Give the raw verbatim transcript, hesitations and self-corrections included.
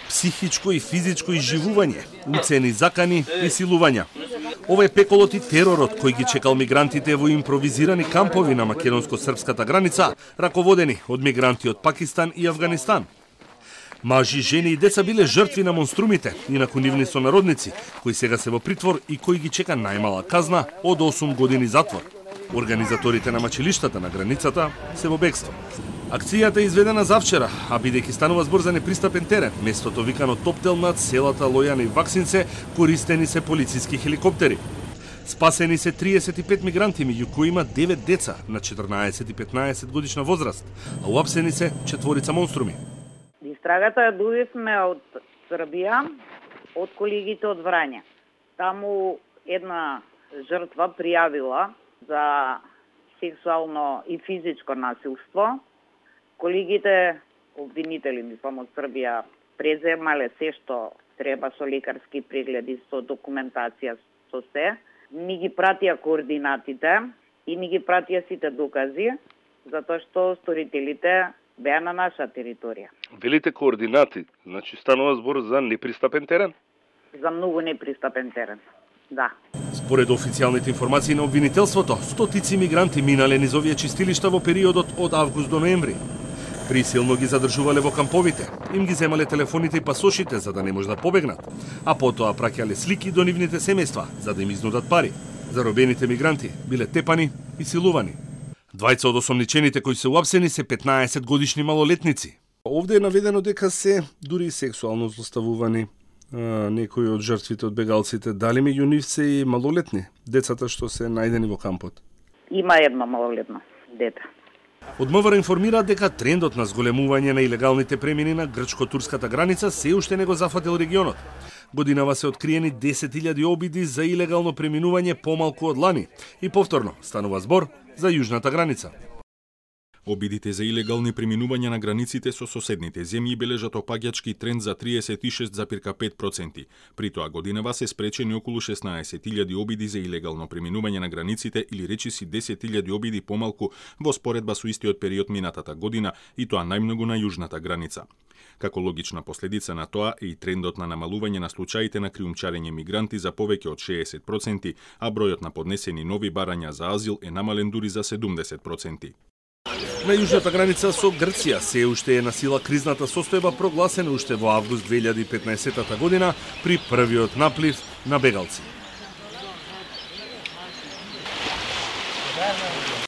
психичко и физичко изживување, уцени, закани и силувања. Ова е пеколот и теророт кој ги чекал мигрантите во импровизирани кампови на македонско-српската граница, раководени од мигранти од Пакистан и Авганистан. Мажи, жени и деца биле жртви на монструмите и на нивни сонародници, кои сега се во притвор и кои ги чека најмала казна од осум години затвор. Организаторите на мачилиштата на границата се во бегство. Акцијата е изведена завчера, а бидејќи станува збор за непристапен терен, местото викано Топтел над селата Лојан и Ваксинце, користени се полициски хеликоптери. Спасени се триесет и пет мигранти, меѓу кои има девет деца на четрнаесет и петнаесет годишна возраст, а уапсени се четворица монструми. Истрагата ја добивме од Србија, од колегите од Врање. Таму една жртва пријавила за сексуално и физичко насилство. Колегите обвинители, мислам, од Србија преземале се што треба со лекарски прегледи, со документација, со се. Ни ги пратија координатите и ни ги пратија сите докази, затоа што сторителите беа на наша територија. Велите координати, значи станува збор за непристапен терен? За многу непристапен терен, да. Според официјалните информации на обвинителството, стотици мигранти минале низ овие чистилишта во периодот од август до ноември. Присилно ги задржувале во камповите, им ги земале телефоните и пасошите за да не може да побегнат, а потоа праќале слики до нивните семејства за да им изнудат пари. Заробените мигранти биле тепани и силувани. Двајца од осомничените кои се уапсени се петнаесет годишни малолетници. Овде е наведено дека се дури сексуално злоставувани. А, некои од жртвите од бегалците, дали меѓу нив се и малолетни, децата што се најдени во кампот? Има едно малолетно дете. Од МВР информираат дека трендот на зголемување на илегалните премини на грчко-турската граница се уште не го зафатил регионот. Годинава се откриени десет илјади обиди за илегално преминување помалку од лани и повторно станува збор за јужната граница. Обидите за илегални преминувања на границите со соседните земји бележат опаѓачки тренд за триесет и шест запирка пет проценти. При тоа годинава се спречени околу шеснаесет илјади обиди за илегално преминување на границите или речиси десет илјади обиди помалку во споредба со истиот период минатата година и тоа најмногу на јужната граница. Како логична последица на тоа е и трендот на намалување на случаите на криумчарење мигранти за повеќе од шеесет проценти, а бројот на поднесени нови барања за азил е намален дури за седумдесет проценти. На јужната граница со Грција се уште е на сила кризната состојба прогласена уште во август две илјади и петнаесета година при првиот наплив на бегалци.